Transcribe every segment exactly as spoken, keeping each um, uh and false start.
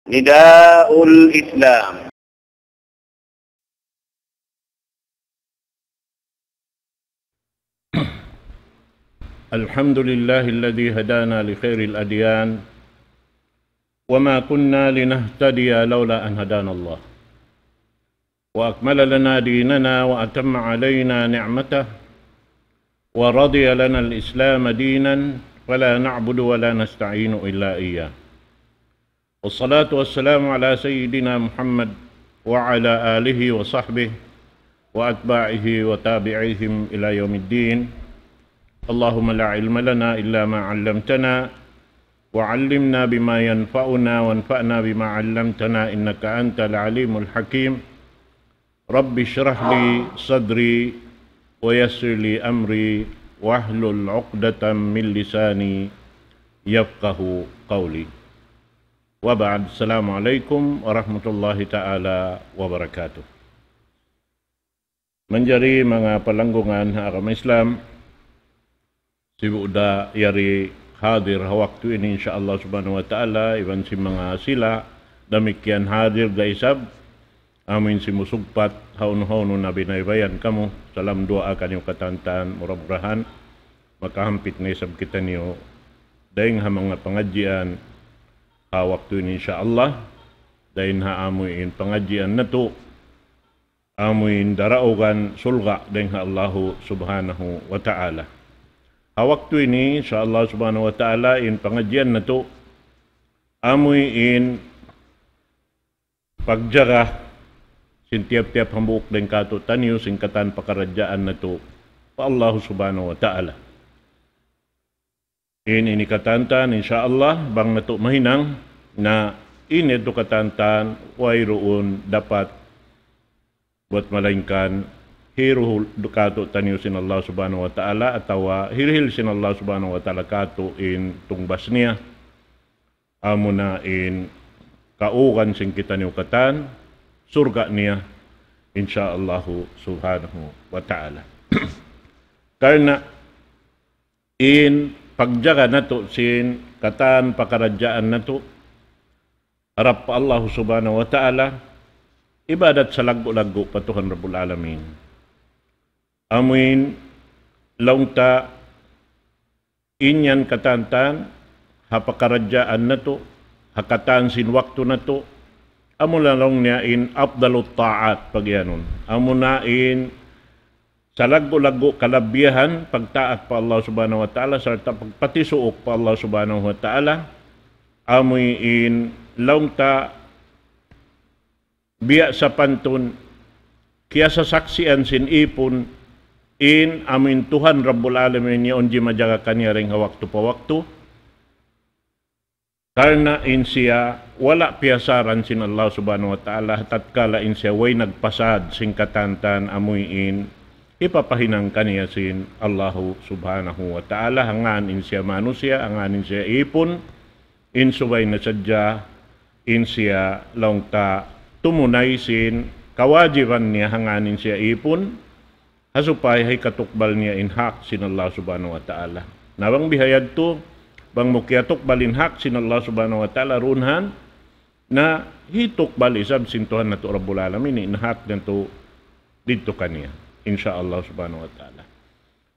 نداء الإسلام. الحمد لله الذي هدانا لخير الأديان وما كنا لنهتدي لولا أن هدانا الله وأكمل لنا ديننا وأتم علينا نعمته ورضي لنا الإسلام دينا فلا نعبد ولا نستعين إلا إياه. والصلاة والسلام على سيدنا محمد وعلى آله وصحبه وأتباعه وتابعيهم إلى يوم الدين. اللهم لا علم لنا إلا ما علمتنا وعلمنا بما ينفعنا وانفعنا بما علمتنا إنك أنت العليم الحكيم. رب اشرح لي صدري ويسر لي أمري واحلل عقدة من لساني يفقه قولي. وبعد، السلام عليكم ورحمة الله تعالى وبركاته. Manjari manga palanggungan ha agama Islam, sibu' da yari hadir ha waktu ini, insya Allah subhanahu wa ta'ala, iban sin manga sila damikkiyan hadir da isab, amuin simusugpat, hawnu-hawnu na binaybayan kamu, salam duwaa kaniyu katantan, mura-murahan, makahampit na isab kitaniyu, dayn ha manga pangadjian, ha waktu ini insya Allah, dayn ha amuin pangadjian natu', amuin daraugan surga' dayn ha Allahu subhanahu wa ta'ala. Ha waktu ini, insya Allah subhanahu wa ta'ala, in pangadjian natu', amuin pagjaga sin tiyap-tiyap hambuuk dayn kātu'niyu sin katan pakaradjaan natu' pa Allahu subhanahu wa ta'ala. In ini katantan, insya Allah, bang natu' mahinang, na in ini katantan, wayruun dapat buat malaingkan hiruhul kātu'niyu sin Allah subhanahu wa ta'ala, atawa hirihil sin Allah subhanahu wa ta'ala kātu' in tungbas niya. Amuna in kaugan sin kitaniyu katan, surga' niya, insya Allahu subhanahu wa ta'ala. Karna' in pagjaga natu' sin katan pakaradjaan natu' harap pa Allahu subhanahu wa ta'ala, ibadat salaggu'-laggu' pa Tuhan Rabbul Alamin. Amuin laung ta in yan katantan, ha pakaradjaan natu', ha katan sin waktu natu', amuna laung niya in afdalut ta'at pagiyanun. Amuna in salaggu'-laggu' kalabihan, pagtaat pa Allah subhanahu wa ta'ala, sarta' pagpatisuuk pa Allah subhanahu wa ta'ala, amuin laung ta biya' sapantun, kiyasasaksian sin ipun, in amuin Tuhan Rabbul Alamin yaun jimajaga kaniya dayn ha waktu pa waktu, karna' in siya wala' piyasaran sin Allah subhanahu wa ta'ala, tatkala in siya way nagpasad sin katantan amuin hipapahinang kaniya sin Allahu subhanahu wa ta'ala, hangkan in siya manusiya', hangkan in siya ipun, in subay na sadja, in siya laung ta tumunay sin kawajiban niya hangkan in siya ipun, ha supaya hikatukbal niya in hak sin Allah subhanahu wa ta'ala. Na bang biha yadtu, bang mu kiyatukbal in hak sin Allah subhanahu wa ta'ala duun han, na hitukbal isab sin Tuhan natu' Rabbul Alamin in hak natu' didtu kaniya, insya Allah subhanahu wa ta'ala.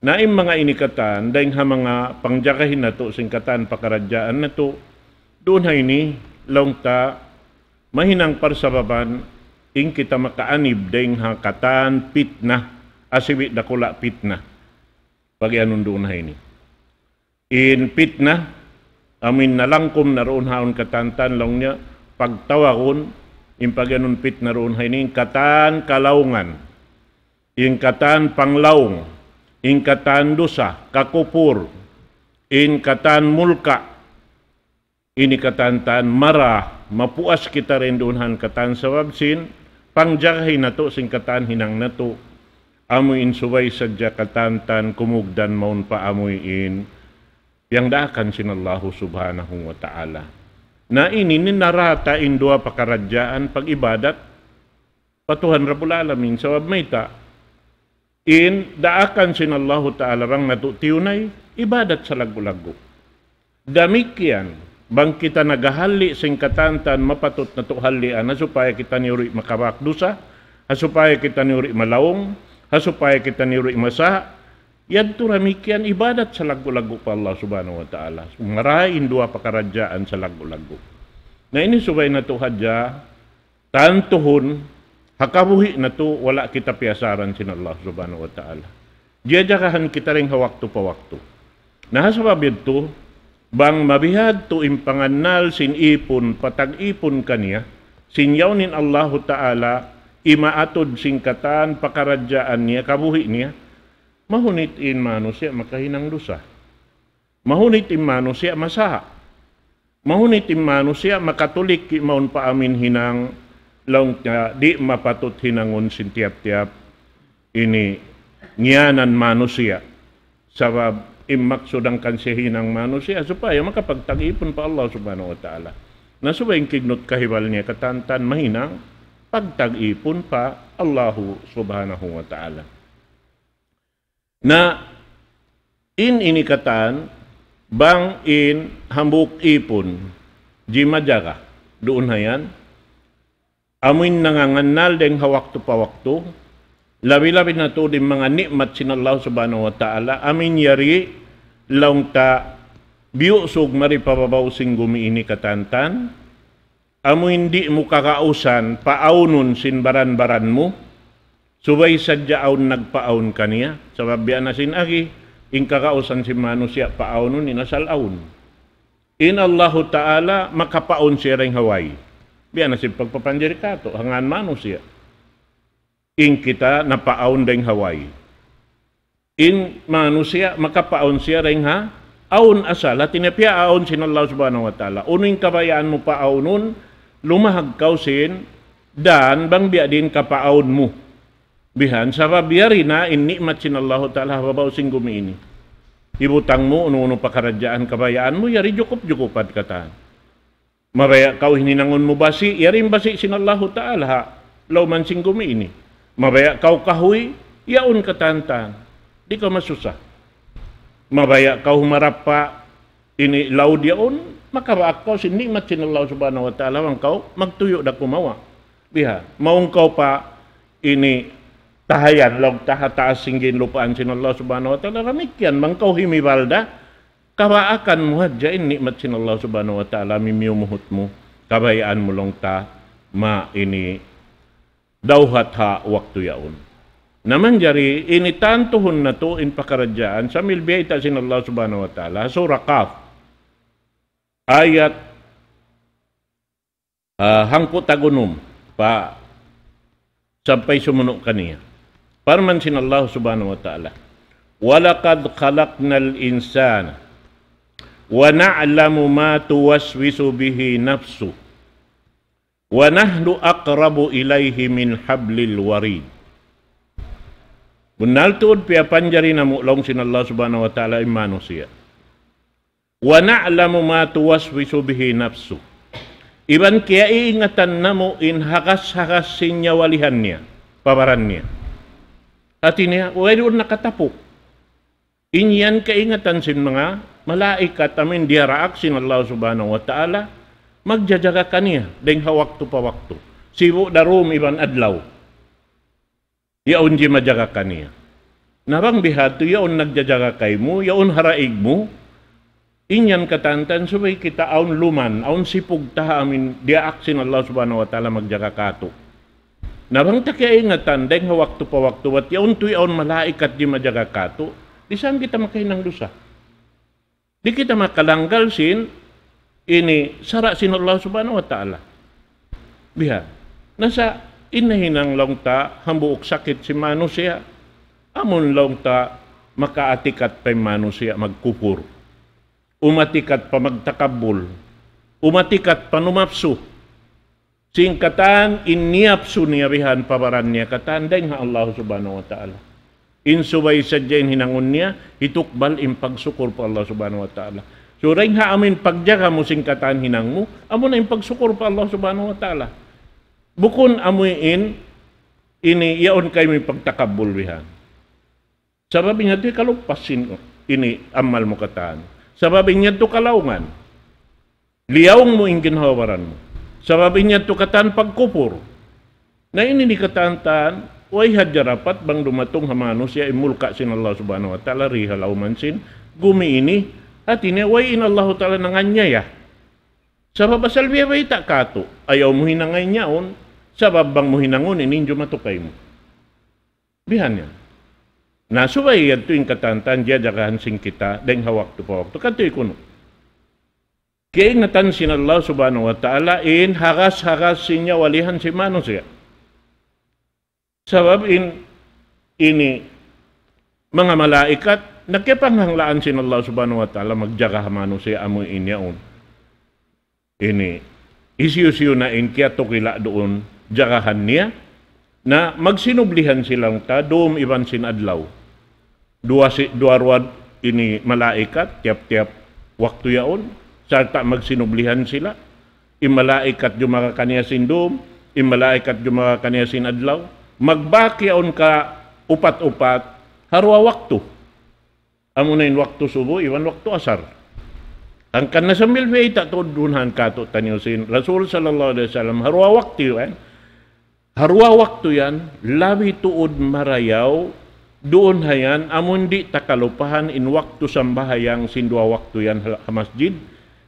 Na in manga ini katan, dayn ha manga pangjagahin natu' sin katan pakaradjaan natu', duun ha ini, laung ta, mahinang parsababan, in kita makaanib dayn ha katan pitna, asibi' dakula' pitna. Pagiyanun duun ha ini. In pitna, amuin nalangkum na duun ha yaun katantan laung niya, pagtawagun, in pagiyanun pitna duun ha ini, in katan kalaungan, in katan panglaung, in katan dusa, kakupur, in katan mulka', ini katantan mara, mapuas kita dayn duun ha yan katan sabab sin, pangjagahin natu' sin katan hinang natu', amuin subay sadja katantan kumugdan mawn pa amuin, piyangdaakan sin Allahu subhanahu wa ta'ala. Na ini ninarata in duwa pakaradjaan pag-ibadat, pa Tuhan Rabbul Alamin, sabab mayta', in daakan sin Allahu Ta'ala bang natu' tiyunay, ibadat salaggu'-laggu'. Damikkiyan, Bang kita naghahalli' sin katantan mapatut natu' hallian, ha supaya kitaniyu di' makabak dusa, ha supaya kitaniyu di' malaung, ha supaya kitaniyu di' masa, yadtu damikkiyan ibadat salaggu'-laggu' pa Allah Subhanahu wa Ta'ala. Marayaw in duwa pakaradjaan salaggu'-laggu'. Na ini subay natu' hadja tantuhun, ha kabuhi' natu' wala' kita piyasaran sin Allah Subhanahu wa Ta'ala. Jajagahan kita dayn ha waktu pa waktu. Na ha sabab yadtu, bang mabihadtu in pangannal sin ipun, pa tag-ipun kaniya, sin yaun in Allahu Ta'ala, imaatud sin katan pakaradjaan niya, kabuhi' niya, mahunit in manusiya' makahinang dusa. Mahunit in manusiya' masa. Mahunit in manusiya' makatulik mawn pa amin hinang laung ta di' mapatut hinangun sin tiyap-tiyap ini ngiyanan manusiya'. Sabab in maksud hangkan siya hinang manusiya' supaya makapagtag-ipun pa Allah Subhanahu wa Ta'ala. Na subay in kignut kahibal niya katantan mahinang pagtag-ipun pa Allahu Subhanahu wa Ta'ala. Na in ini katan, bang in hambuuk ipun, jimajaga, duun hayan, amuin nangangannal dayn ha waktu pa waktu, labi-labi na tuud in manga ni'mat sin Allah Subhanahu wa Ta'ala, amuin yari laung ta biyusug mari pa babaw sin gumi ini katantan, amuin di' mu kagausan paawnun sin baran-baran mu, subay sadja awn nagpaawn kaniya, sabab biya' na sin agi, in kagausan sin manusiya' paawnun in asal awn. In Allahu Ta'ala makapaawn siya dayn ha way. Biya' na sin pagpapanjari katu', ha ngan manusiya'. In kita napaawn dayn ha way. In manusiya' makapaawn siya dayn ha awn asal. Hati niya piyaawn sin Allah Subhanahu wa Ta'ala. Unu in kabayaan mu paawnun, lumahag kaw sin dan bang biya' diin kapaawn mu. Bihan, sabab yari na in ni'mat sin Allahu Ta'ala ha babaw sin gumi ini. Hibutang mu, unu-unu pakaradjaan kabayaan mu, yari jukup-jukupan katan. Mabaya' kaw hininangun mu basi', yari in basi' sin Allahu Ta'ala ha lawman sin gumi ini. Mabaya' kaw kahuy, yaun katantan. Di' kaw masusa. Mabaya' kaw humarap pa ini laud yaun, makabaak kaw sin ni'mat sin Allah Subhanahu wa Ta'ala, bang kaw magtuyu' da kumawa'. Biha, mawn kaw pa ini tahayan, laung ta ha taas sin ginlupaan sin Allah Subhanahu wa Ta'ala, damikkiyan, bang kaw himibal da, kabaakan mu hadja in ni'mat sin Allah Subhanahu wa Ta'ala, mimiyumuhut mu, kabayaan mu laung ta, ma ini dawhat ha waktu yaun. Na manjari, ini tantuhun natu' in pakaradjaan, sambil biyayta' sin Allah Subhanahu wa Ta'ala, Surah Qaf, ayat, ah, hangpu' tag-unum, pa, sampay sumunu' kaniya. Parman sin Allah Subhanahu wa Ta'ala, وَلَقَدْ خَلَقْنَا الْإِنسَانَ وَنَعْلَمُ مَا تُوَسْوِسُ بِهِ نَفْسُهُ وَنَحْنُ أَقْرَبُ إِلَيْهِ مِنْ حَبْلِ الْوَرِيدِ. Bunnal tuud piyapanjari namu' laung sin Allah Subhanahu wa Ta'ala in manusiya'. وَنَعْلَمُ مَا تُوَسْوِسُ بِهِ نَفْسُهُ. Iban kiyaiingatan namu' in hagas-hagas sin nyawalihan niya, pa baran niya. Hati niya, wayruun nakatapuk. In yan kaingatan sin manga malaikat amuin diyaraak sin Allah Subhanahu wa Ta'ala, magjajaga kaniya, dayn ha waktu pa waktu. Sibu' da dum iban adlaw. Yaun jimajaga kaniya. Na bang bihadtu, yaun nagjajaga kaymu, yaun ha daig mu, in yan katantan subay kita awn luman, awn sipug ta ha amuin diyaak sin Allah Subhanahu wa Ta'ala magjaga katu'. Na bang ta kiyaingatan, dayn ha waktu pa waktu, bat yaun tuud yaun malaikat jimajaga katu', di' saan kita makahinang dusa. Di' kita makalanggal sin ini sara' sin Allah Subhanahu wa Ta'ala. Biha. Na sa' in nahinang laung ta hambuuk sakit sin manusiya'. Amun laung ta makaatikat pa in manusiya' magkupur. Umatikat pa magtakabbul. Umatikat pa numapsu. Sin katan in niyapsu niya bihan pa baran niya katan dayn ha Allah Subhanahu wa Ta'ala. In subay sadja in hinangun niya, hitukbal in pagsukur pa Allah Subhanahu wa Ta'ala. So, dayn ha amuin pagjaga mu sin katan hinang mu, amuna in pagsukur pa Allah Subhanahu wa Ta'ala. Bukun amuin ini yaun kaymu in pagtakabbul bihan. Sabab in yadtu kalupasin ini amal mu katan. Sabab in yadtu kalaungan. Liyaung mu in ginhawa-baran mu. Sabab in yadtu katan pagkupur. Na ini di katan-katan, way hadja dapat bang dumatung ha manusiya' in mulka' sin Allah Subhanahu wa Ta'ala, di ha lawm sin gumi ini, hati niya way in Allah Ta'ala nanganiyaya. Sabab asal biya' bayta' katu', ayaw mu hinangun yaun, sabab bang mu hinangun ini in jumatu kaymu. Bihan yan. Na subay yadtu in katan-katan jajagahan sin kita, dayng ha waktu pa waktu. Katu' kunu'. Kaingatan sin Allah Subhanahu wa Ta'ala in hagas-hagas sin nyawa lihan sin manusiya'. Sabab in ini manga malaikat, na kiyapanghanglaan sin Allah Subhanahu wa Ta'ala magjaga ha manusiya' amu in yaun. Ini, hisiyu-siyu na in kiyatukila' duun jagahan niya, na magsinublihan sila ta dum iban sin adlaw. Duwa si, duwa ruwa ini malaikat, tiyap-tiyap waktu yaun, sarta' magsinublihan sila. In malaikat jumaga kaniya sin dum, in malaikat jumaga kaniya sin adlaw. Magbak yaun ka upat-upat, ha duwa waktu. Amuna in waktu subu, iban waktu asar. Hangkan na sambil bayta' tuud duun han katu' taniyu sin Rasul sallallahu alayhi wasallam, ha duwa waktu yan. Ha duwa waktu yan, labi tuud marayaw, duun ha yan, amun di' ta kalupahan in waktu sambahayang sin duwa waktu yan ha, ha masjid.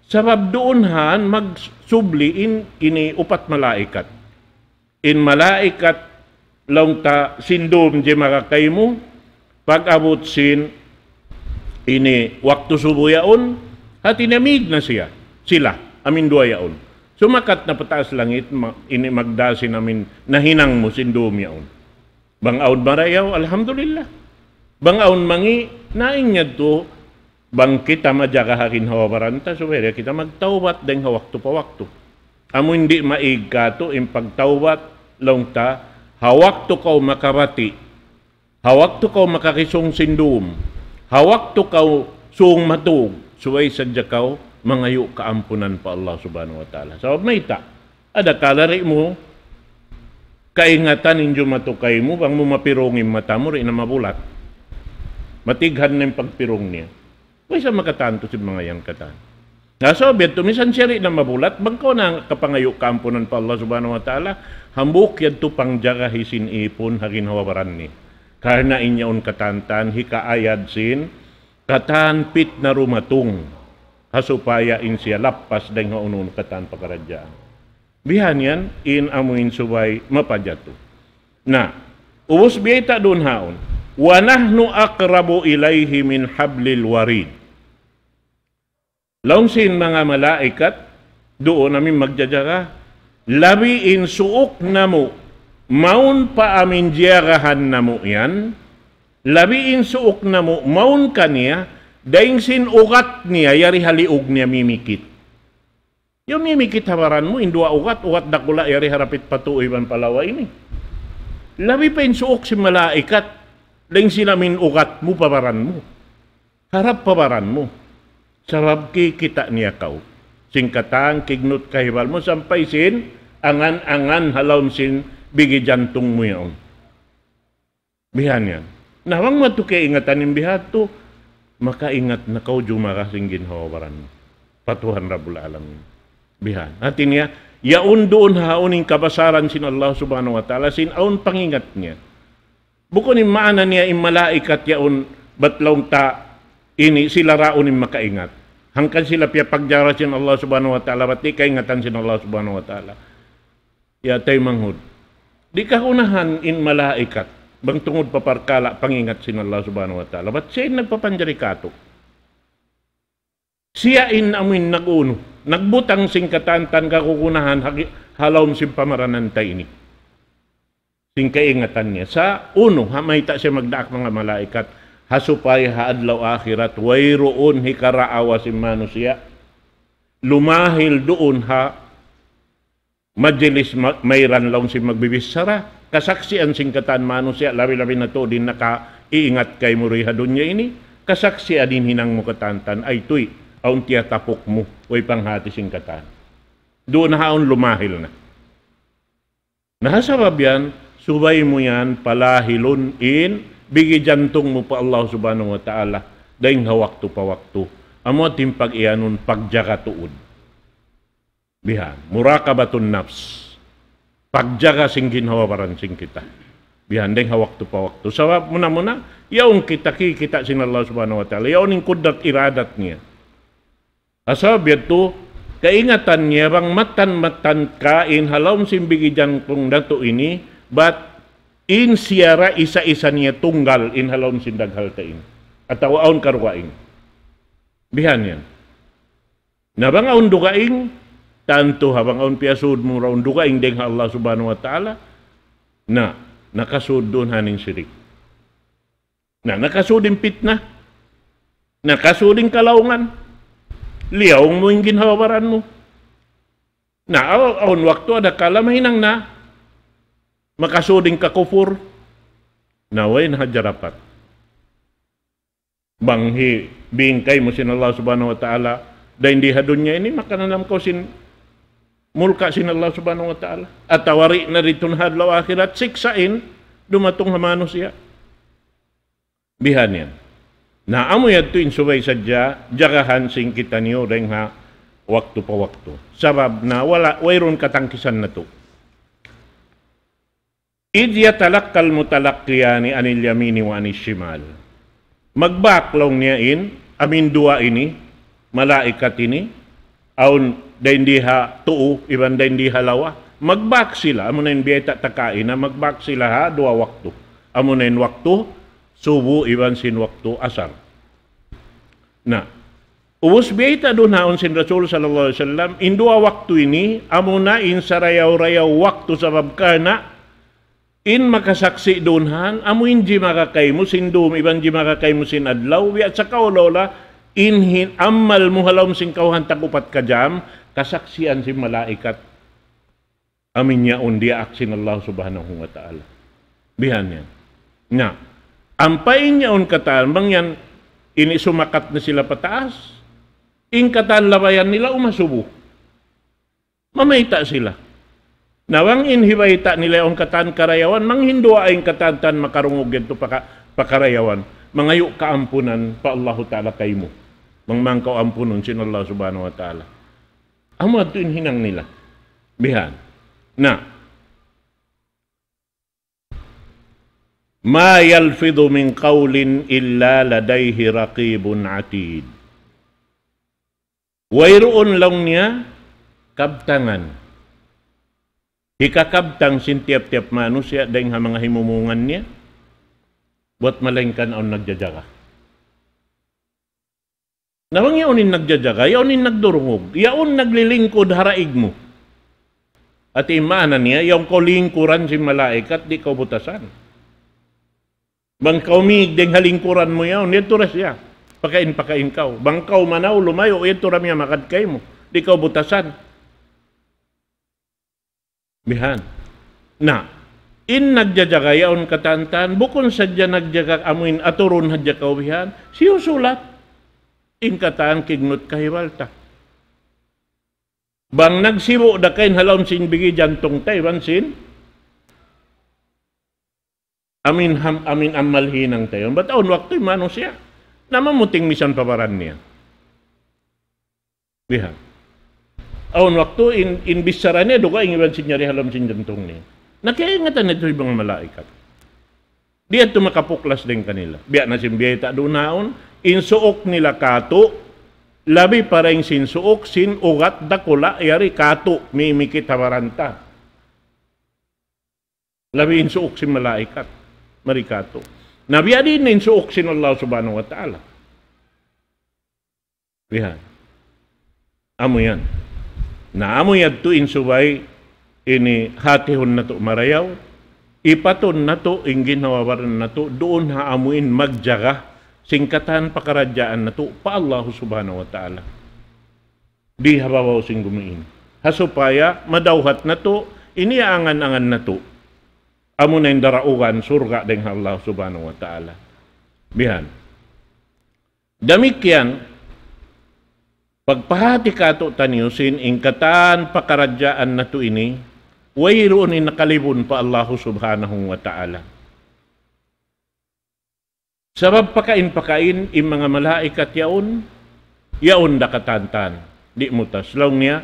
Sabab duun han magsubli in ini upat malaikat. In malaikat laung ta sin dum jimaga kaymu, pag-abut sin ini waktu subu yaun, hati niya mīg na siya, sila, amu in duwa yaun. Sumakat na pataas langit, ma-, ini magdā sin amu in nahinang mu sin dum yaun. Bang awn marayaw, alhamdulillah. Bang awn mangi', na in yadtu, bang kita majaga ha ginhawa-baran ta, subay da kita magtawbat dayng ha waktu pa waktu. Amu in di' maīg katu' in pagtawbat, laung ta, ha waktu kaw makabati', ha waktu kaw makakisūng sin dum, ha waktu kaw sūng matūg, subay sadja kaw mangayu' kaampunan pa Allah Subhanahu wa Ta'ala. Sabab mayta', adakala di' mu kaingatan in jumatu kaymu, bang mu mapirung in mata mu, di' na mabulat. Matighan na in pagpirung niya. Way sa makatantu sin manga yan katan. Na sabab yadtu, misan siya di' na mabulat, bang kaw na kapangayu' kaampunan pa Allah Subhanahu wa Ta'ala, hambuuk yadtu pangjagahi sin ipun ha ginhawa-baran niya. Karna' in yaun katan-katan, hikaayad sin, katan pitna dumatung, ha supaya in siya lappas dayng ha unu-unu katan pakaradjaan. Bihan yan, in amu in subay mapajatu. Na, ubus biyayta' duun haun. وَنَحْنُ أَقْرَبُ إِلَيْهِ مِنْ حَبْلِ الْوَرِيدِ. Laung sin manga malaikat, duun amu in magjajaga, labi in suuk namu', mawn pa amu in jiyagahan namu' yan, labi in suuk namu', mawn kaniya, dayng sin ugat niya, yari ha liug niya mimikit. Yaun mimikit ha baran mu, in duwa ugat, ugat dakula' yari ha dapit pa tuu iban pa lawa ini. Labi pa in suuk sin malaikat, dayng sin amu in ugat mu pa baran mu. Harap pa baran mu. Sabab kikita' niya kaw. Sin katan, kignut kahibal mu, sampay sin, angan-angan ha lawm sin bigi jantung mu yaun. Bihan yan. Na bang mu yadtu kaingatan in bihadtu, makaingat na kaw jumaga sin ginhawa-baran mu pa Tuhan Rabbul Alamin. Bihan. Hati niya, yaun duun haun in kabasaran sin Allah Subhanahu wa Ta'ala, sin awn pangingat niya. Bukun in maana niya in malaikat yaun bat laung ta ini sila raun in makaingat. Hangkan sila piyapagjara sin Allah Subhanahu wa Ta'ala, bat di' kaingatan sin Allah Subhanahu wa Ta'ala. Ya taymanghud. Di' kagunahan in malaikat. Bang tungud pa parkala' pangingat sin Allah Subhanahu wa Ta'ala. Bat siya in nagpapanjari katu'. Siya in amu in nag-unu. Nagbutang sin katan-katan kagunahan ha gi-, ha lawm sin pamaranan ta ini. Sin kaingatan niya. Sa' unu, ha mayta' siya magdaak manga malaikat. Ha supaya ha adlaw akhirat, wayruun hikaraawa sin manusiya'. Lumahil duun ha majlis ma-, mayran laung sin magbibichara, kasaksian sin katan manusiya', labi-labi na tuud in nakaiingat kaymu di ha dunya ini, kasaksian in hinang mu katan-katan, ay tuy, awn tiyatapuk mu, way panghati sin katan. Duun na haun lumahil na. Na ha sabab yan, subay mu yan palahilun in bigi jantung mu pa Allah Subhanahu wa Ta'ala, dayng ha waktu pa waktu. Amu in pag-iyanun pagjaga tuud. Bihan, muraqabatun nafs. Pagjaga sin ginhawa-baran sin kita. Bihan, dayng ha waktu pa waktu. Sabab muna-muna, yaun kita kikita' sin Allah Subhanahu wa Ta'ala. Yaun in kudrat iradat niya. Asal biya' tu, kaingatan niya bang mattan-mattan ka in ha lawm sin bigi jantung natu' ini, bat in siya ra isa-isa niya tunggal in ha lawm sin daghal ta ini. Atawa awn karugaing. Bihan yan. Na bang awn dugaing, tantu ha bang awn piyasud mu ra awn dugaing dayng ha Allah Subhanahu wa Ta'ala, na, nakasud duun ha in sirik. Na, nakasud in pitna, nakasud in kalaungan, liyaung mu in ginhawa-baran mu. Na, aw-, awn waktu adakala mahinang na, makasud in kakupur, na way na hadja dapat. Bang hi-, biyingkay mu sin Allah Subhanahu wa Ta'ala, dayn di ha dunya ini, makananam kaw sin mulka' sin Allah Subhanahu wa Ta'ala. Atawa di' na didtu ha adlaw akhirat, siksa' in dumatung ha manusiya'. Bihan yan. Na amu yadtu in subay sadja, jagahan sin kitaniyu dayng ha waktu pa waktu. Sabab na wala', wayruun katangkisan natu'. إذ يتلقى المتلقيان عن اليمين وعن الشمال. Magbak laung niya in, amu in duwa ini, malaikat ini, awn dayn di ha tuu, iban dayn di ha lawa. Magbak sila, amu na in biyayta' ta kaina, magbak sila ha duwa waktu. Amu na in waktu subu, iban sin waktu asar. Na, ubus biyayta' duun ha yaun sin Rasul sallallahu alayhi wasallam, in duwa waktu ini, amu na in sarayaw-rayaw waktu sabab karna' in makasaksi' duun han, amu in jimara kaymu sin dum, iban jimara kaymu sin adlaw, biya' sa kaula-ula, in hin-, amal mu ha lawm sin kawhaan tag-upat ka jam, kasaksian sin malaikat. Amu in yaun diyaak sin Allah Subhanahu wa Ta'ala. Bihan yan. Na, ampa in yaun katan, bang yan, ini sumakat na sila pataas, in katan labayan nila umasubu. Mamayta' sila. Na bang in hibayta' nila yaun katan karayawan, manghinduwaa in katan tan makarungug yadtu paka-, pakarayawan. Mangayu' kaampunan pa Allahu Ta'ala kaymu. Bang man kaw ampunun sin Allah Subhanahu wa Ta'ala. Amu yadtu in hinang nila. Bihan. Na. ما يلفظ من قول إلا لديه رقيب عتيد. Wayruun laung niya kabtangan. Hikakabtang sin tiyap-tiyap manusiya' dayng ha manga himumungan niya. Buwat malaingkan awn nagjajaga. Na bang yaun in nagjajaga, yaun in nagdurungug, yaun naglilingkud ha daig mu. Hati maana niya, yaun kaw lingkuran sin malaikat, di' kaw butasan. Bang kaw mīg dayng ha lingkuran mu yaun, yadtu da siya. Pakain-pakain kaw. Bang kaw manaw lumayu', yadtu da miyamakad kaymu. Di' kaw butasan. Bihan. Na, in nagjajaga yaun katan-katan, bukun sadja nagjaga amu in aturun hadja kaw bihan, siyusulat. In katan kignut kahibal ta. Bang nagsibu' da kain ha lawm sin bigi jantung ta, iban sin amin ham-, amin amal hinang ta yaun. Bat awn waktu in manusiya', na mamuting misan pa baran niya. Bihan. Awn waktu in, in bichara niya, dugaing iban sin nyari ha lawm sin jantung niya. Na kiyaingatan niya tuud in manga malaikat. Di' yadtu makapuklas dayn kanila. Biya' na sin biyayta' duun ha yaun, in suuk nila katu', labi pa dayn sin suuk sin ugat dakula' yari katu', mimikit ha baran ta. Labi in suuk sin malaikat, mari katu'. Na biya' diin in suuk sin Allah Subhanahu wa Ta'ala. Bihan. Amu yan. Na amu yadtu in subay ini hatihun natu' marayaw, ipatun natu' in ginhawa-baran natu' duun ha amu in magjaga sin katan pakaradjaan natu' pa Allah Subhanahu wa Ta'ala. Di ha babaw sin gumi ini. Ha supaya madawhat natu', ini angan-angan natu'. Amu na in daraugan surga' dayn ha Allah Subhanahu wa Ta'ala. Bihan. Damikkiyan, pagpahati katu'taniyu sin in katan pakaradjaan natu' ini, wayruun in nakalibun pa Allahu Subhanahu wa Ta'ala. Sabab pakain-pakain in manga malaikat yaun, yaun da katan-katan, di' mutas. Laung niya,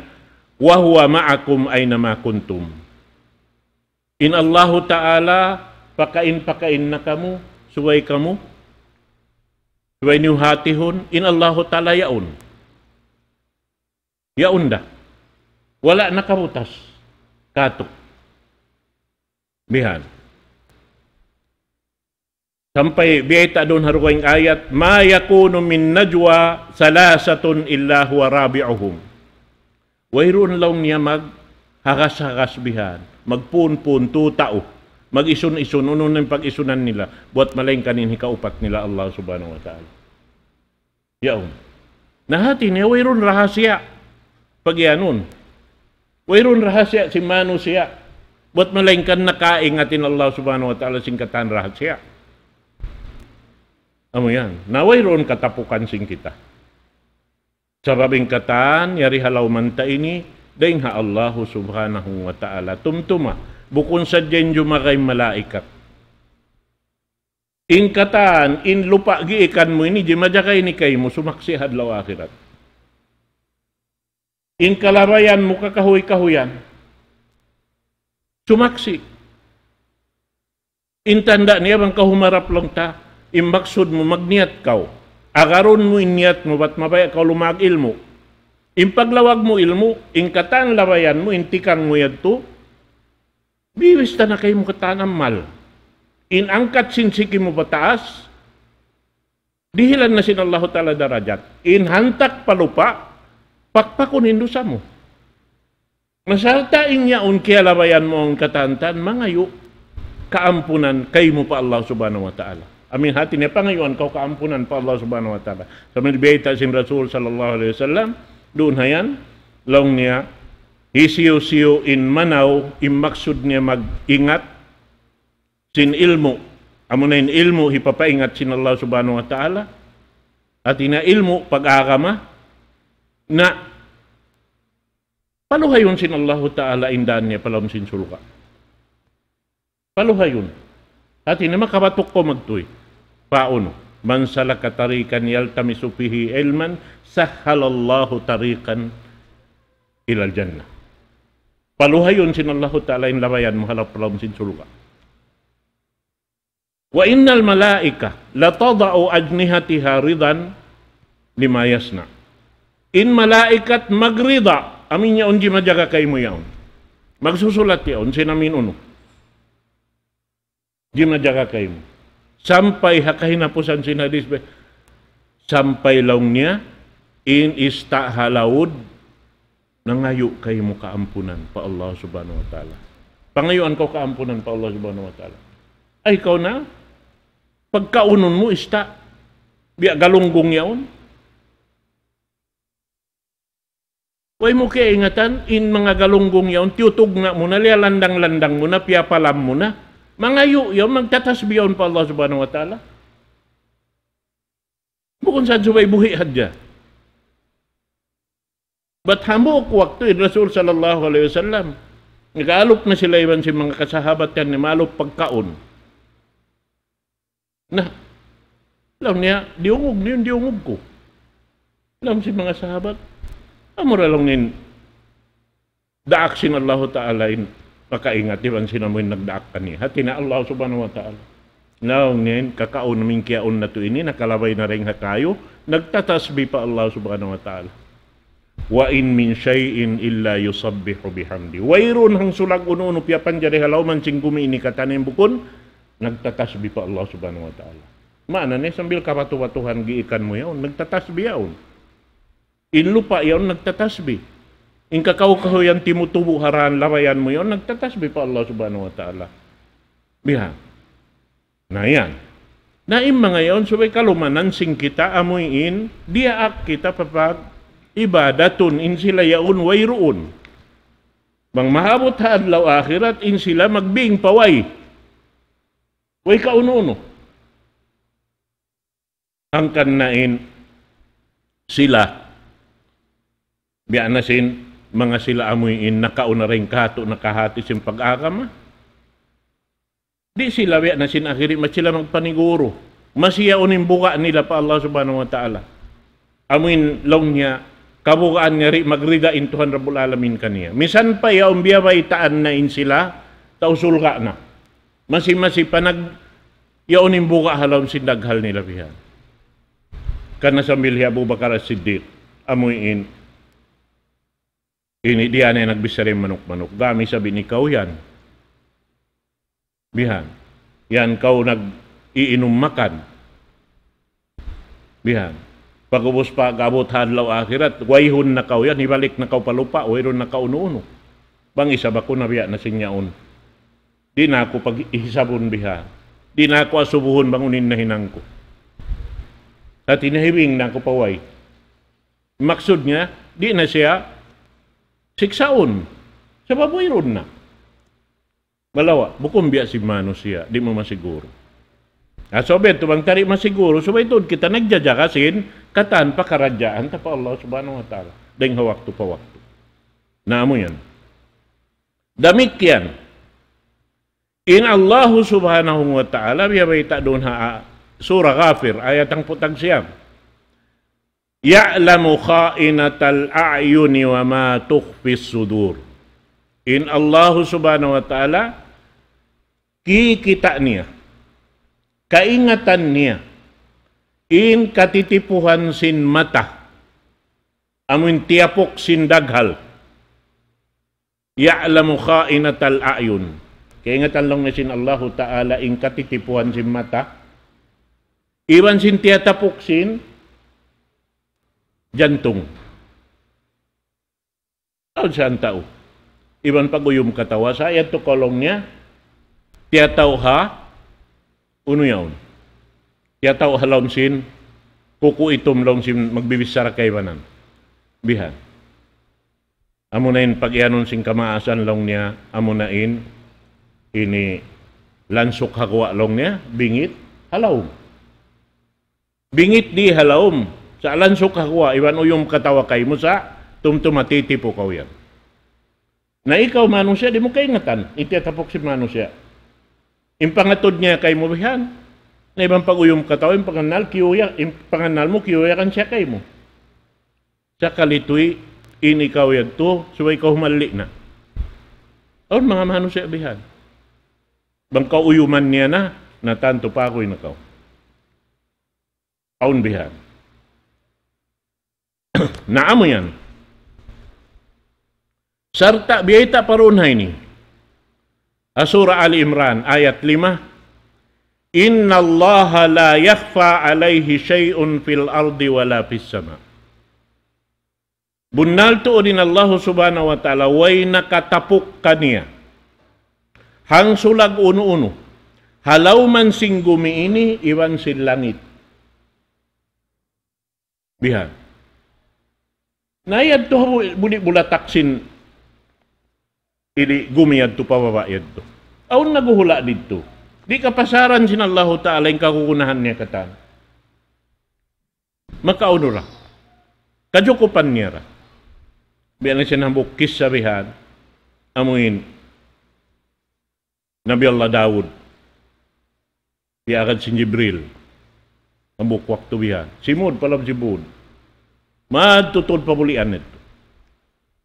وهو معكم أينما كنتم. In Allahu Ta'ala, pakain-pakain na kamu, subay kamu, subay niyu hatihun, in Allahu Ta'ala yaun. Yaun da. Wala' nakabutas katu'. Bihan. Sampay biyayta' duun ha dugaing ayat, ما يكون من نجوى ثلاثة إلا هو رابعهم. Wayruun laung niya maghagas-hagas bihan, magpunpun, tu tau, mag-isun-isun, unu na in pag-isunan nila, buwat malaingkan in hikaupat nila Allah Subhanahu wa Ta'ala. Yaun. Na hati niya, wayruun rahasiya. Pagiyanun. Wayruun rahasiya sin manusiya'. Buwat malaingkan nakaingat in Allah Subhanahu wa Ta'ala sin katan rahasiya. Amu yan. Na wayruun katapukan sin kita. Sabab in katan, yari ha lawm ta ini, dayn ha Allah Subhanahu wa Ta'ala. Tumtuma. Bukun sadja in jumagay malaikat. In katan, in lupa' giikan mu ini, jimajaga ini kaymu, sumaksi' ha adlaw akhirat. In kalabayan mu kakahuy-kahuyan, sumaksi'. In tanda' niya bang kaw humarap laung ta, in maksud mu magniyat kaw. Agarun mu in niyat mu, bat mabaya' kaw lumag ilmu'. In paglawag mu ilmu', in katan labayan mu, in tikang mu yadtu, biwis ta na kaymu katan amal. In angkat sin siki mu pataas, dihilan na sin Allahu Ta'ala darajat. In hantak pa lupa', pakpakun in dusa mu. Na sarta' in yaun kiyalabayan mu in katan-katan, mangayu' kaampunan kaymu pa Allah Subhanahu wa Ta'ala. Amin hati niya pangayuan kaw kaampunan pa Allah Subhanahu wa Ta'ala. Sambil biyayta' sin Rasul sallallahu alayhi wasallam, duun ha yan, laung niya, hisiyu-siyu in manaw, in maksud niya mag-ingat sin ilmu'. Amuna in ilmu' hipapaingat sin Allah Subhanahu wa Ta'ala. Hati niya ilmu' pag-agama. Na paluhayun sin Allahu Ta'ala in dān niya pa lawm sin surga'. Paluhayun. Hati niya makabatuk kaw magtuy. Paunu? من سلك طريقا يلتمس فيه علما سهل الله طريقا إلى الجنة. Paluhayun sin Allahu Ta'ala in labayan mu ha lawm sin surga'. وإن الملائكة لتضع أجنحتها رضا لما يصنع. In malaikat magrida, amin yaun jimajaga kaymu yaun. Magsusulat yaun, sin amin unu. Jimajaga kaymu. Sampay ha kahinapusan sin hadis, be. Sampay laung niya, in ista' ha laud, nangayu' kaymu kaampunan pa Allah Subhanahu wa Ta'ala. Pangayuan kaw kaampunan pa Allah Subhanahu wa Ta'ala. Ay, kaw na, pagkaunun mu ista', biya' galunggung yaun. Way mu kiyaingatan, in manga galunggung yaun, tiyutugna' mu na, liyalandang-landang mu na, piyapalam mu na, mangayu' yaun, magtatasbih yaun pa Allah Subhanahu wa Ta'ala. Bukun sa subay buhi' hadja. Bat hambuuk waktu in Rasul sallallahu alayhi wasallam, nag-alup na sila iban sin manga kasahabatan niya, maalup pagkaun. Na, laung niya, diyungug niyu in diyungug ku. Laung sin manga sahabat, amura laung niya in daak sin Allahu Ta'ala in makaingat iban sin amu in nagdaak kaniya. Hati niya Allah Subhanahu wa Ta'ala. Laung niya in kakaun amu in kiyaun natu' ini, nakalabay na dayn ha kayu, nagtatasbih pa Allah Subhanahu wa Ta'ala. وإن من شيء إلا يسبح بحمده. Wayruun hangsulag unu-unu piyapanjari ha lawm sin gumi ini katan in bukun nagtatasbih pa Allah Subhanahu wa Ta'ala. Maana niya sambil kabatu-batuhan giikan mu yaun, nagtatasbih yaun. In lupa' yaun nagtatasbih. In kakaw-kahuyan timutubu' ha dān labayan mu yaun, nagtatasbih pa Allah Subhanahu wa Ta'ala. Bihan. Na yan. Na in manga yaun subay kalumanan sin kita amu in diyaak kita pa pag-ibadatun in sila yaun wayruun. Bang maabut ha adlaw akhirat in sila magbing pa way. Way kaunu-unu. Hangkan na in sila, biya' na sin manga sila amu in nakauna dayn kātu' nakahāti sin pag-agama. Di' sila biya' na sin akhiri, masi sila magpaniguru. Masi yaun in buga' nila pa Allah Subhanahu wa Ta'ala. Amu in laung niya, kabugaan niya di' magrida in Tuhan Rabbul Alamin kaniya. Misan pa yaun biyabaytaan na in sila, tau surga' na. Masi-masi pa nag-, yaun in buga' ha lawm sin daghal nila bihan. Karna' sambil hi Abu Bakar As-Siddiq, amuin, ini di' na yan nagbichara manuk-manuk. Gam isab in ikaw yan. Bihan. Yan kaw nag-iinum makan. Bihan. Pag'ubus pag-abut ha adlaw akhirat, wayruun na kaw yan, hibalik na kaw pa lupa', wayruun na kaw unu-unu. Bang isab aku nabiya' na sin yaun. Di' na aku paghisabun bihan. Di' na aku asubuhun bang unu in nahinang ku. Hati niya hibing na aku pa way. Maksud niya, di' na siya siksaun. Sabab wayruun na. Malawa', bukun biya' sin manusiya', di' mu masiguru. Na, subay tuud bang ta di' masiguru, subay tuud kita nagjajaga sin katan pakaradjaan ta pa Allah Subhanahu wa Ta'ala. Dayn ha waktu pa waktu. Na amu yan. Damikkiyan. In Allah Subhanahu wa Ta'ala, biya' bayta' duun ha, ah, Surah Ghafir, ayat hangpu' tag siyam. يعلم خائنة الأعين وما تخفي الصدور. In Allah Subhanahu wa Ta'ala, kikita' niya, kaingatan niya, in katitipuhan sin mata, amun tiyapuk sin daghal. يعلم خائنة الأعين. Kaingatan laung niya sin Allahu Ta'ala in katitipuhan sin mata. Iban sin tiyatapuk sin jantung. Awn sa in tau. Iban pag-uyum katawa sa, yadtu kaw laung niya, tiyatau ha, unu yaun. Tiyatau ha lawm sin, kuku itum laung sin magbibichara kaibanan. Bihan. Amuna in pag-iyanun sin kamaasan laung niya, amuna in ini lansuk ha guwa' laung niya, bingit ha lawm. Bingit di ha lawm, sa' lansuk ha guwa', iban uyum katawa kaymu sa', tumtuma titipu kaw yan. Na ikaw manusiya', di' mu kaingatan, in tiyatapuk sin manusiya'. In pangatud niya kaymu bihan, na iban pag-uyum katawa, in pangannal, kiyuya, in pangannal mu, kiyuyakan siya kaymu. Sakali tuy, in ikaw yadtu, subay kaw humalli' na. Awn manga manusiya' bihan. Bang kaw uyuman niya na, na tantu pa aku in ikaw. Awn bihan. Na amu yan. Sarta' biyayta' pa duun ha ini. Ha Surah Ali Imran, ayat lima, إن الله لا يخفى عليه شيء في الأرض ولا في السماء. Bunnal tuud in Allahu Subhanahu wa Ta'ala, way nakatapuk kaniya. Hangsulag unu-unu. Ha lawm sin gumi ini, iban sin langit. Bihan. Na yadtu ha bu-, buli' bulatak sin ini gumi yadtu pa baba' yadtu. Awn naghuhula' didtu. Di' kapasaran sin Allahu Ta'ala in kagunahan niya katan. Makaunu ra. Kajukupan niya ra. Biya' na sin hambuuk kissa bihan. Amuin. Nabi Allah Daud. Piyagad sin Jibril. Hambuuk waktu bihan. Simud pa lawm sin būd. Madtu tuud pa bulian yadtu.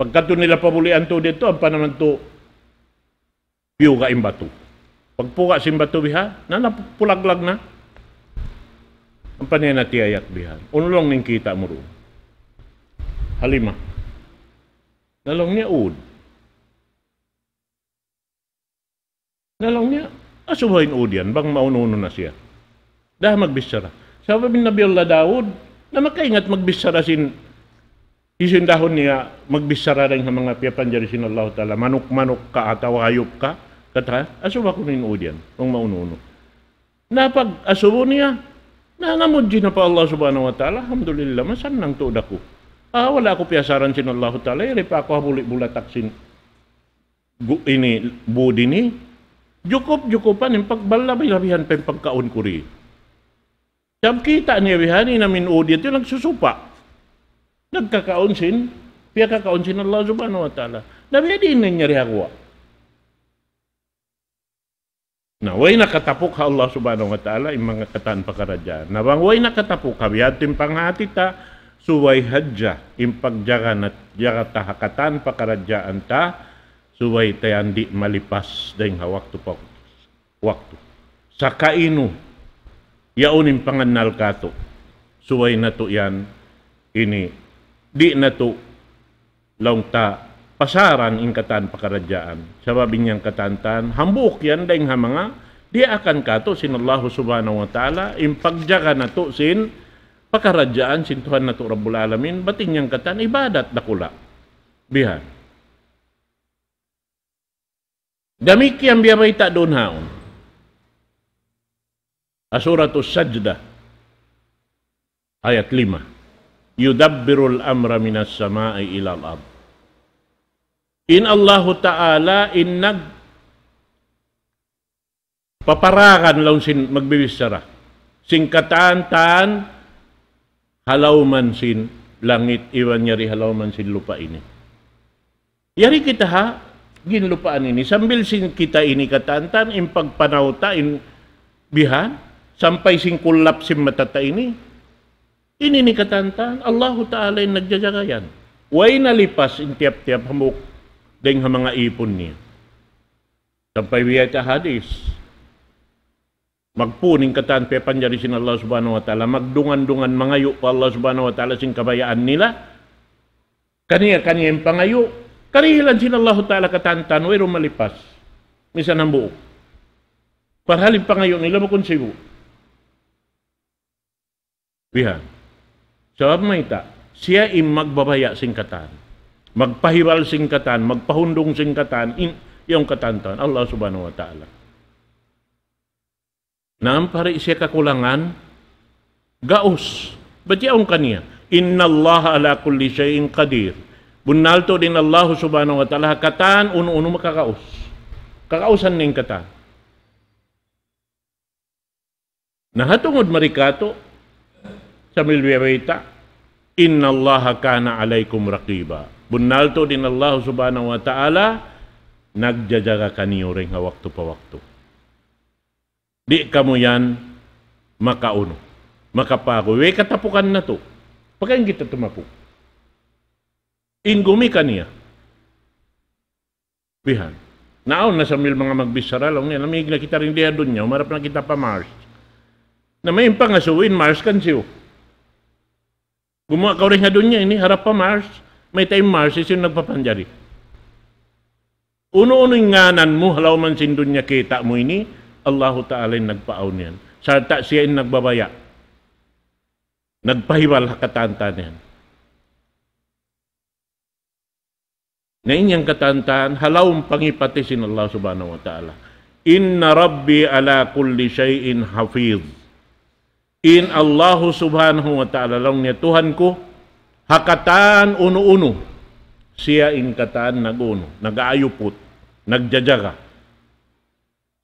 Pagkadtu nila pa bulian tuud yadtu, ampa naman tuud piyuga' in batu. Pagpuga' sin batu bihan, na napulaglag na. Ampa niya na tiyayak bihan. Unu laung niya in kita' mu duun? Halima. Na laung niya ud. Na laung niya, asubuhun in ud yan, bang maunu-unu na siya. Daa magbichara. Sabab in Nabi Allah Daud, na makaingat magbichara sin, hisiyu in dahun niya magbichara dayn ha manga piyapanjari sin Allahu Ta'ala, manuk-manuk ka atawa hayup ka, kata, asubu kunu' in ud yan, bang maunu-unu. Na pag-asubu niya, na namudji na pa Allah Subhanahu wa Ta'ala, alhamdulillah, masannang tuud aku. Ah, wala' aku piyasaran sin Allahu Ta'ala, yari pa aku ha buli' bulatak sin gu-, ini, būd ini, jukup-jukupan in pag-, balabi-labihan pa in pagkaun ku di. Sabab kita' niya bihan in amuin ud yadtu nagsusupa. Nagkakaun sin, piyakakaun sin Allah Subhanahu wa Ta'ala. Na biya' diin na in yari ha guwa'. Na, way nakatapuk ha Allah Subhanahu wa Ta'ala, in manga katan pakaradjaan. Na bang way nakatapuk ha biya' ha yan in panghati ta, subay hadja in pagjaga nat-, jaga ta ha katan pakaradjaan ta, subay ta yan di' malipas dayng ha waktu pa waktu. Saka unu, yaun in pangannal katu'. Subay natu' yan ini, di' natu' laung ta pasaran in katan pakaradjaan. Sabab in yan katantan, hambuuk yan dayng ha manga diyaakan katu' sin Allahu Subhanahu wa Ta'ala, in pagjaga natu' sin pakaradjaan sin Tuhan natu' Rabbul Alamin, bat in yan katan ibadat dakula'. Bihan. Damikkiyan biya' bayta' duun haun. Ha Suratus Sajdah, ayat lima. يدبر الأمر من السماء إلى الأرض. In Allahu Ta'ala in nagpaparagan laung sin magbibichara. Sin katan-katan ha lawm sin langit iban yari ha lawm sin lupa' ini. Yari kita ha ginlupaan ini. Sambil sin kita ini katan-katan, in pagpanaw ta, in bihan, sampay sin kullap sin mata ta ini. Ini ini katan-katan, Allahu Ta'ala in nagjajaga yan. Way nalipas in tiyap-tiyap hambuuk dayng ha manga īpun niya. Sampay biya' ta hadis. Magpun in katan piyapanjari sin Allah Subhanahu wa Ta'ala. Magdungan-dungan mangayu' pa Allah Subhanahu wa Ta'ala sin kabayaan nila. Kaniya-kaniya in pangayu', karihilan sin Allahu Ta'ala katan-katan, wayruun malipas. Misan hambuuk. Parhal in pangayu' nila bukun sibu'. Bihan. Sabab mayta', siya in magbabaya' sin katan. Magpahibal sin katan, magpahundung sin katan, in, yaun katan-katan, Allah Subhanahu wa Ta'ala. Na ampa di' siya kakulangan, gaus. Bat yaun kaniya, إن الله على كل شيء قدير. Bunnal tuud in Allahu Subhanahu wa Ta'ala, ha katan unu-unu makagaus. Kagausan niya in katan. Na ha tungud mari katu', sambil biya' bayta', إن الله كان عليكم رقيبا. Bunnal tuud in Allahu Subhanahu wa Ta'ala, nagjajaga kaniyu dayng ha waktu pa waktu. Di' kamu yan makaunu, makapaguy. Way katapukan natu'. Pagkaun kita tumapuk. In gumi kaniya. Bihan. Na awn na sambil manga magbichara laung niya, lamig na kita dii ha dunya, humarap na kita pa Mars. Na mayta' in pangasubu in Mars kan hisiyu? Gumuwa' kaw dii ha dunya ini, harap pa Mars, mayta' in Mars, hisiyu in nagpapanjari? Unu-unu in ngānan mu, ha lawm sin dunya kita' mu ini, Allahu Ta'ala in nagpaawn yan. Sarta' siya in nagbabaya'. Nagpahibal ha katan-katan yan. Na in yan katan-katan, ha lawm pangipati sin Allah Subhanahu wa Ta'ala. إن ربي على كل شيء حفيظ. In Allahu Subhanahu wa Ta'ala, laung niya, Tuhan ku, ha katan unu-unu, siya in katan nag-unu, nag-aayuput, nagjajaga.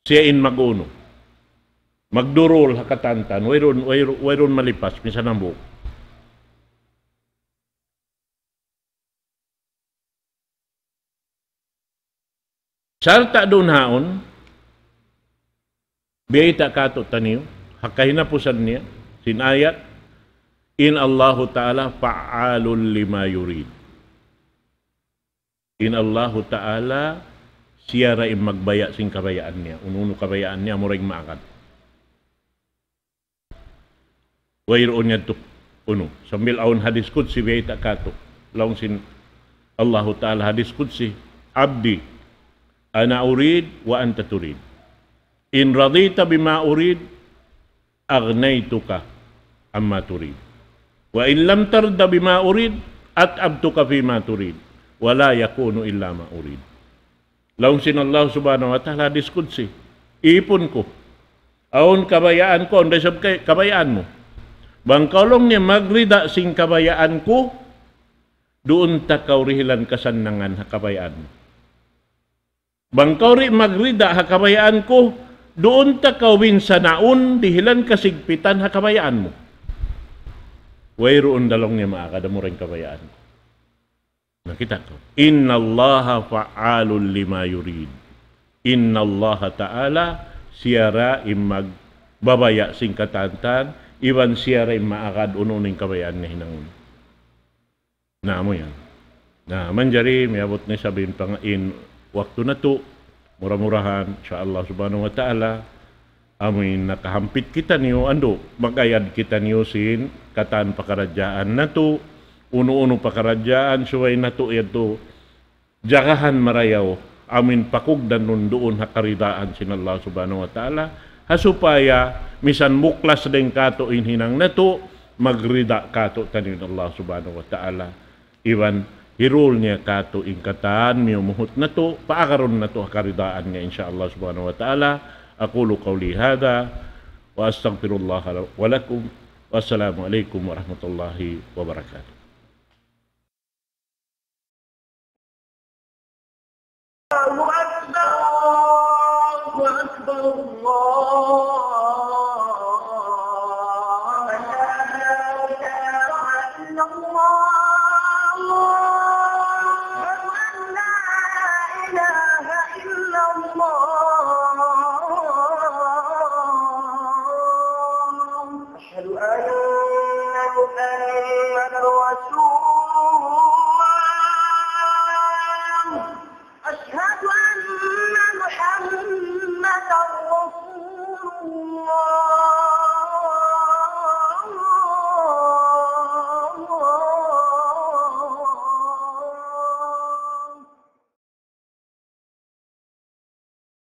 Siya in mag-unu. Magdurul ha katan-katan, wayruun, wayruun, wayruun malipas, misan hambuuk. Sarta' duun haun, biyayta' katu'taniyu, ha kahinapusan niya, sin ayat, in Allahu Ta'ala فعال لما يريد. In Allahu Ta'ala, siya ra in magbaya' sin kabayaan niya, unu-unu kabayaan niya, amura in maagad. Wayruun yadtu unu. Sambil awn hadis qudsi biyayta' katu'. Laung sin Allahu Ta'ala hadis qudsi, عبدي أنا أريد وأنت تريد. إن رضيت بما أريد أغنيتك عما تريد. وإن لم ترض بما أريد أتعبتك فيما تريد. ولا يكون إلا ما أريد. Laung sin Allah Subhanahu wa Ta'ala hadis qudsi, īpun ku, awn kabayaan ku, awn da isab kay-, kabayaan mu. Bang kaw laung niya magrida sin kabayaan ku, duun ta kaw dihilan kasannangan ha kabayaan mu. Bang kaw di' magrida ha kabayaan ku, duun ta kaw binsanaun dihilan kasigpitan ha kabayaan mu. Wayruun da laung niya maagad amura in kabayaan ku. Na kita' kaw. إن الله فعال لما يريد. In Allah Ta'ala, siya ra in magbabaya' sin katan-katan, iban siya ra in maagad unu-unu in kabayaan niya hinangun. Na, amu yan. Na, manjari, miyabut na isab in pang-, in waktu natu', mura-murahan, insya Allah subhanahu wa ta'ala, amu in nakahampit kitaniyu, andu', mag-ayad kitaniyu sin katan pakaradjaan natu', unu-unu pakaradjaan, subay natu' yadtu, jagahan marayaw, amu in pakugdan nun duun ha karidaan sin Allah subhanahu wa ta'ala, ha supaya, misan muklas dayn katu' in hinang natu', magrida katu'taniyu in Allah subhanahu wa ta'ala. Iban hirul niya katu' in katan miyumuhut natu', paagarun natu' ha karidaan niya, insya Allah subhanahu wa ta'ala. أقول قولي هذا وأستغفر الله ولكم. والسلام عليكم ورحمة الله وبركاته. الله أكبر، الله أكبر، الله أكبر. أشهد أن لا إله إلا الله. أشهد أن لا إله إلا الله. أشهد أن محمدا رسول